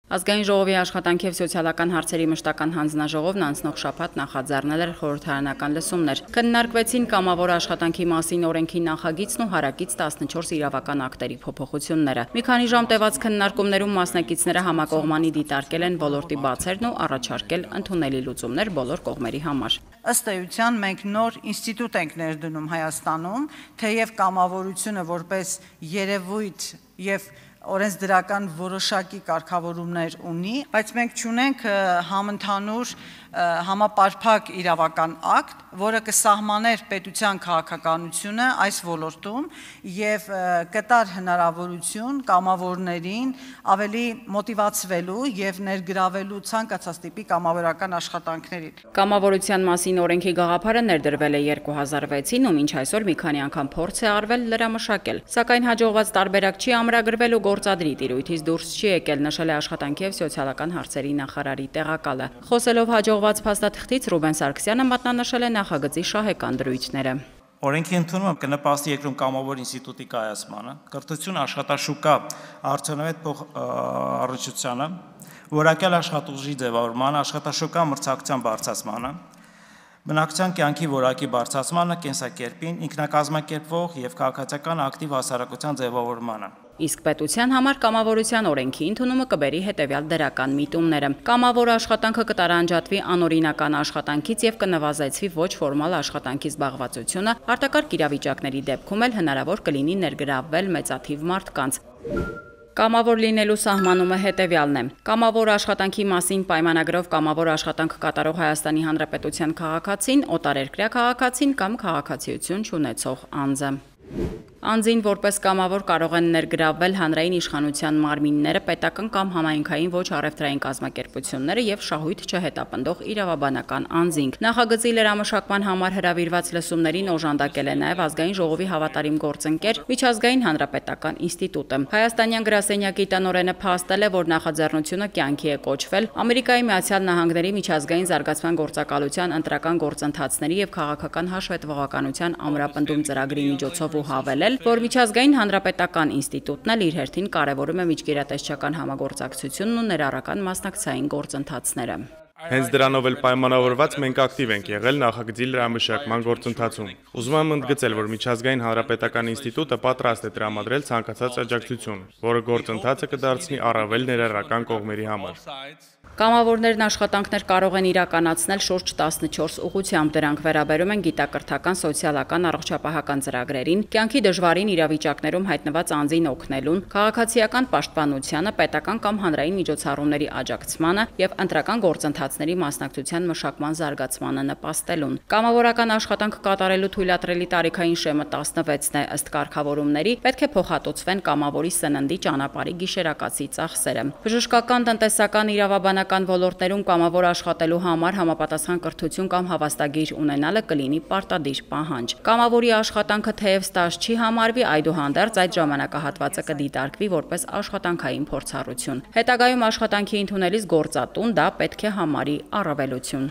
Ազգային ժողովի աշխատանքի և սոցիալական հարցերի մշտական հանձնաժողովն անցնող շաբաթ նախաձեռնել էր խորհրդարանական լսումներ։ Քննարկվեցին կամավոր աշխատանքի մասին օրենքի նախագիծն ու հարակից 14 իրավական ակտերի փոփոխությունները։ Մի քանի ժամ տևած քննարկումներում մասնակիցները համակողմանի դիտարկել են ոլորտի բացերն ու առաջարկել ընդունելի լուծումներ բոլոր կողմերի համար։ Ըստ էության մենք նոր ինստիտուտ ենք ներդնում Հայաստանում, թեև կամավորությունը որպես երևույթ եւ օրենսդրական որոշակի կարգավորումներ ունի, բայց մենք չունենք համընդհանուր համապարփակ իրավական ակտ, որը կսահմաներ պետության քաղաքականությունը այս ոլորտում եւ կտար հնարավորություն կամավորներին ավելի մոտիվացվելու եւ ներգրավելու ցանկացած տիպի կամավորական աշխատանքներին։ Կամավորության մասին օրենքի գաղափարը ներդրվել է 2006-ին ու մինչ այսօր մի քանի անգամ փորձ է արվել լրամշակել, սակայն հաջողված տարբերակ չի ամրագրվել ու գործադրի տիրույթից դուրս չի եկել, նշել է աշխատանքի և սոցիալական հարցերի նախարարի տեղակալը։ Խոսելով հաջողված փաստաթղթից Ռուբեն Սարգսյանը մատնանշել է նախագծի շահեկան դրույթները։ Օրենքի ընդունումը կնպաստի երկրում կամավոր ինստիտուտի կայացմանը, կրթություն, աշխատաշուկա արդյունավետ փոխառչությանը, որակյալ աշխատուժի ձևավորմանը, աշխատաշուկա մրցակցության բարձրացմանը, բնակչության կյանքի որակի բարձրացմանը, կենսակերպին, ինքնակազմակերպվող եւ քաղաքացիական ակտիվ հասարակության ձևավորմանը։ Իսկ պետության համար կամավորության օրենքի ընդունումը կբերի հետևյալ դրական միտումները։ Կամավոր աշխատանքը կտարանջատվի անօրինական աշխատանքից եւ կնվազեցվի ոչ ֆորմալ աշխատանքի զբաղվածությունը, արտակարգ իրավիճակների դեպքում էլ հնարավոր կլինի ներգրավվել մեծաթիվ մարդկանց։ Կամավոր լինելու սահմանումը հետևյալն է։ Կամավոր աշխատանքի մասին պայմանագրով կամավոր աշխատանք կատարող Հայաստանի Հանրապետության քաղաքացին, օտարերկրյա քաղաքացին կամ քաղաքացիություն չունեցող անձը։ Անձին որպես կամավոր կարող են ներգրավվել հանրային իշխանության մարմինները, պետական կամ համայնքային ոչ առևտրային կազմակերպությունները եւ շահույթ չհետապնդող իրավաբանական անձինք։ Նախագծի լրամշակման համար հրավիրված լսումներին օժանդակել է նաեւ Ազգային ժողովի հավատարիմ գործընկեր Միջազգային հանրապետական ինստիտուտը։ Հայաստանյան գրասենյակի տնօրենը փաստել է, որ նախաձեռնությունը կյանքի է կոչվել Ամերիկայի Միացյալ Նահանգների միջազգային զարգացման գործակալության ընտրական գործընթացների եւ քաղաքական հաշվետվողականության ամրապնդում ծրագրի միջոցով ու հավելել, որ Միջազգային հանրապետական ինստիտուտն էլ իր հերթին կարևորում է միջգերատեսչական համագործակցությունն ու ներառական մասնակցային գործընթացները։ Հենց դրանով էլ պայմանավորված մենք ակտիվ ենք եղել նախագծի լրամշակման գործընթացում։ Ուզում եմ ընդգծել, որ Միջազգային հանրապետական ինստիտուտը պատրաստ է տրամադրել ցանկացած աջակցություն, որը գործընթացը կդարձնի առավել ներառական կողմերի համար։ Կամավորներն աշխատանքներ կարող են իրականացնել շուրջ 14 ուղղությամբ, դրանք վերաբերում են գիտակրթական, սոցիալական, առողջապահական ծրագրերին, կյանքի դժվարին իրավիճակներում հայտնված անձին օգնելուն, քաղաքացիական պաշտպանությանը, պետական կամ հանրային միջոցառումների աջակցմանը եւ ընտրական գործընթացների մասնակցության մշակման զարգացմանը նպաստելուն։ Կամավորական աշխատանք կատարելու թույլատրելի տարիքային շեմը 16-ն է, ըստ կարգավորումների պետք է փոխհատուցվեն կամավորի սննդի ճանապարհի գիշերակացի ծախսերը։ Բժշկական, տնտեսական, իրավաբանական ոլորտներում կամավոր աշխատելու համար համապատասխան կրթություն կամ հավաստագիր ունենալը կլինի պարտադիր պահանջ։ Կամավորի աշխատանքը թեև ստաժ չի համարվի, այդուհանդերձ այդ ժամանակահատվածը կդիտարկվի որպես աշխատանքային փորձառություն։ Հետագայում աշխատանքի ընդունելիս գործատուն դա պետք է համարի առավելություն։